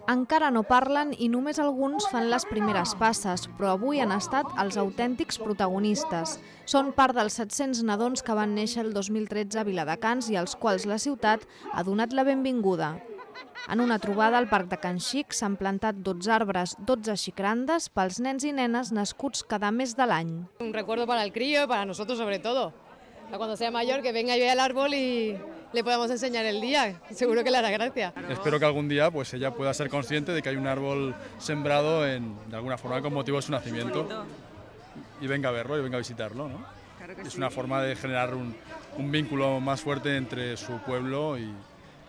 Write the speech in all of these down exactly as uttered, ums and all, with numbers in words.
Encara no parlen i només alguns fan les primeres passes, però avui han estat els autèntics protagonistes. Són part dels set-cents nadons que van néixer el dos mil tretze a Viladecans i als quals la ciutat ha donat la benvinguda. En una trobada al Parc de Can Xic s'han plantat dotze arbres, dotze xicrandes pels nens i nenes nascuts cada mes de l'any. Un recuerdo para el crío y para nosotros sobre todo. Cuando sea mayor que venga y vea el árbol y le podamos enseñar el día, seguro que le hará gracia. Espero que algún día pues ella pueda ser consciente de que hay un árbol sembrado en, de alguna forma con motivo de su nacimiento y venga a verlo y venga a visitarlo, ¿no? Claro que es sí. Una forma de generar un, un vínculo más fuerte entre su pueblo y,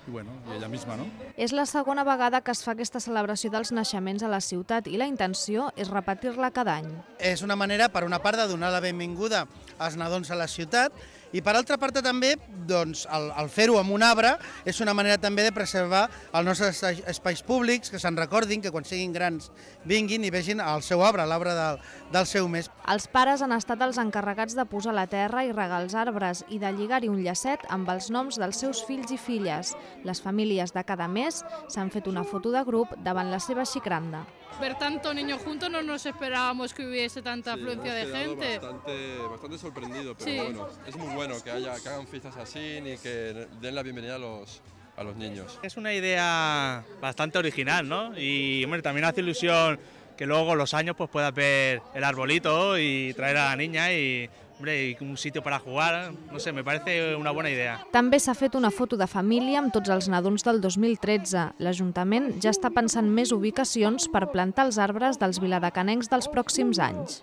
i bueno, i ella misma, no? És la segona vegada que es fa aquesta celebració dels naixements a la ciutat i la intenció és repetir-la cada any. És una manera, per una part, de donar la benvinguda als nadons a la ciutat i per altra part també, doncs, el, el fer-ho amb un arbre és una manera també de preservar els nostres espais públics, que se'n recordin, que quan siguin grans vinguin i vegin el seu arbre, l'arbre del, del seu mes. Els pares han estat els encarregats de posar la terra i regar els arbres i de lligar-hi un llacet amb els noms dels seus fills i filles. Les famílies de cada mes s'han fet una foto de grup davant la seva xicranda. Ver tanto niños juntos no nos esperábamos que hubiese tanta afluencia de gente. Bastante, bastante sorprendido, pero sí. Bueno, es muy bueno que, haya, que hagan fiestas así y que den la bienvenida a los, a los niños. Es una idea bastante original, ¿no? Y hombre, también hace ilusión que luego con los años pues puedas ver el arbolito y traer a la niña y, hombre, y un sitio para jugar, no sé, me parece una buena idea. També s'ha fet una foto de família amb tots els nadons del dos mil tretze. L'Ajuntament ja està pensant més ubicacions per plantar els arbres dels viladecanencs dels pròxims anys.